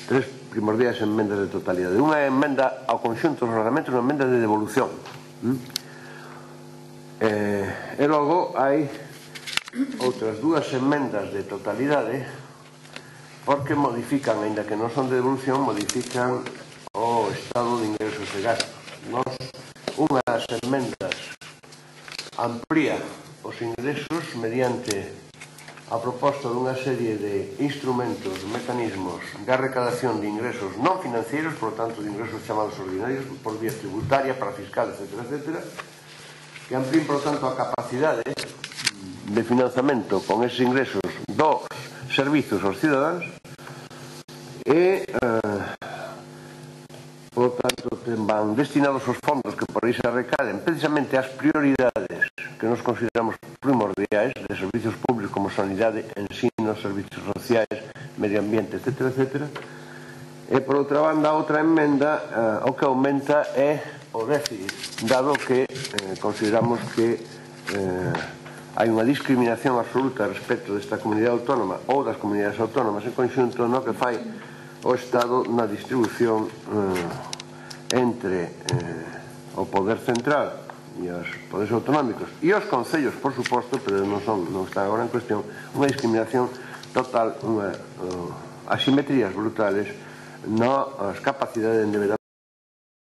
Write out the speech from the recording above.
tres primordiais enmendas de totalidade. Unha emenda ao conxunto dos reglamentos, unha emenda de devolución. E logo hai outras dúas enmendas de totalidade porque modifican, aínda que non son de devolución, modifican o estado de ingresos e gastos. Unha das enmendas amplía os ingresos mediante a proposta dunha serie de instrumentos, mecanismos de recadación de ingresos non financeiros, por lo tanto de ingresos chamados ordinarios, por vía tributaria, para fiscal, etc., que amplíen, por lo tanto, a capacidade de financiamento con eses ingresos dos servizos aos cidadáns e, por lo tanto, van destinados os fondos que por aí se recaden precisamente ás prioridades que nos consideramos primordiais de servicios públicos como sanidade, ensino, servicios sociais, medio ambiente, etc. E, por outra banda, outra emenda o que aumenta é o déficit, dado que consideramos que hai unha discriminación absoluta respecto desta comunidade autónoma ou das comunidades autónomas en conxunto no que fai o Estado na distribución entre o poder central e os poderes autonómicos e os concellos, por suposto, pero non están agora en cuestión, unha discriminación total, asimetrías brutales nas capacidades de endeudamento